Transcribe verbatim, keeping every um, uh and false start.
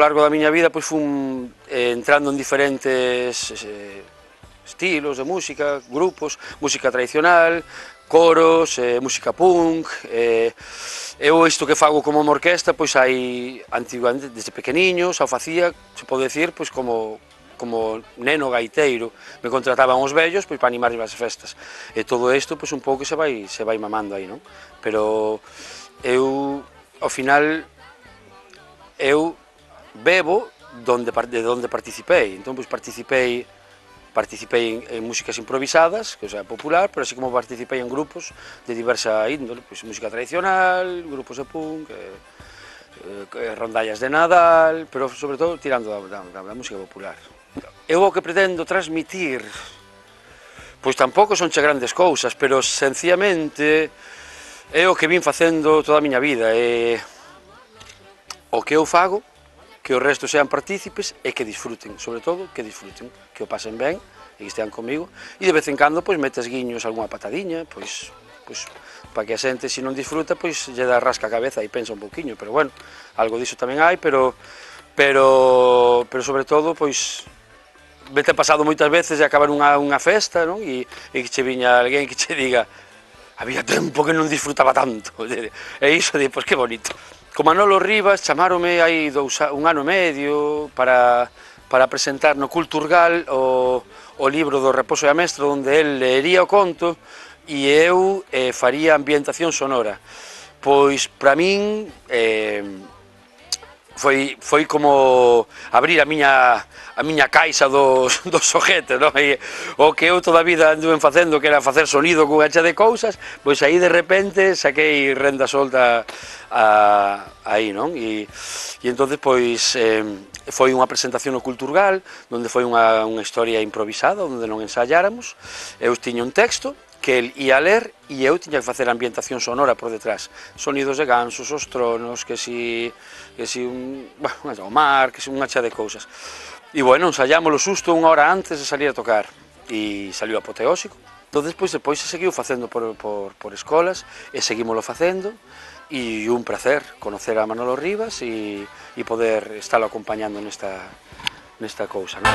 largo da miña vida pois fun eh, entrando en diferentes eh, estilos de música, grupos, música tradicional, coros, eh, música punk, eh, eu isto que fago como orquesta, pois hai, antiguamente, desde pequeniño, xa o facía, se pode decir, pois como, como neno gaiteiro, me contrataban os vellos, pois para animar as festas, e todo isto, pois un pouco se vai, se vai mamando aí, non? Pero eu, ao final, eu bebo donde, de onde participei, entón, pois participei, Participei en, en músicas improvisadas, que é popular, pero así como participei en grupos de diversa índole, pois música tradicional, grupos de punk, eh, eh, rondallas de Nadal, pero sobre todo tirando da, da, da música popular. Eu o que pretendo transmitir, pois tampouco son che grandes cousas, pero sencillamente é o que vin facendo toda a miña vida, é o que eu fago, que o resto sean partícipes e que disfruten, sobre todo que disfruten, que o pasen ben e que estean comigo, e de vez en cando pois metes guiños algunha patadiña, pois, pois para que a xente, se non disfruta, pois lle dá rasca a cabeza e pensa un pouquiño, pero bueno, algo diso tamén hai, pero pero pero sobre todo pois vete pasado moitas veces de acabar unha, unha festa, non? E, e que che viña alguén que che diga había tempo que non disfrutaba tanto, e iso de, pois que bonito. Co Manolo Rivas chamáronme hai dous, un ano e medio para, para presentar no Culturgal o, o libro do Raposo e a Mestra, onde el leería o conto e eu eh, faría ambientación sonora. Pois, para min, eh, foi, foi como abrir a miña, a miña caixa dos, dos xoguetes, non? E, o que eu toda a vida anduve facendo, que era facer sonido con hacha de cousas, pois aí de repente saquei renda solta a, aí, non? E, e entonces pois eh, foi unha presentación no Culturgal, onde foi unha, unha historia improvisada, onde non ensayáramos, eu tiña un texto que el ia ler e eu tiña que facer a ambientación sonora por detrás, sonidos de gansos, os tronos, que si, que si un, bueno, o mar, que si unha cha de cousas. E bueno, ensayámoslo xusto unha hora antes de salir a tocar e saliu apoteósico. Entón, despois, depois se seguiu facendo por, por, por escolas e seguímoslo facendo e un placer conocer a Manolo Rivas e, e poder estarlo acompañando nesta, nesta cousa, non?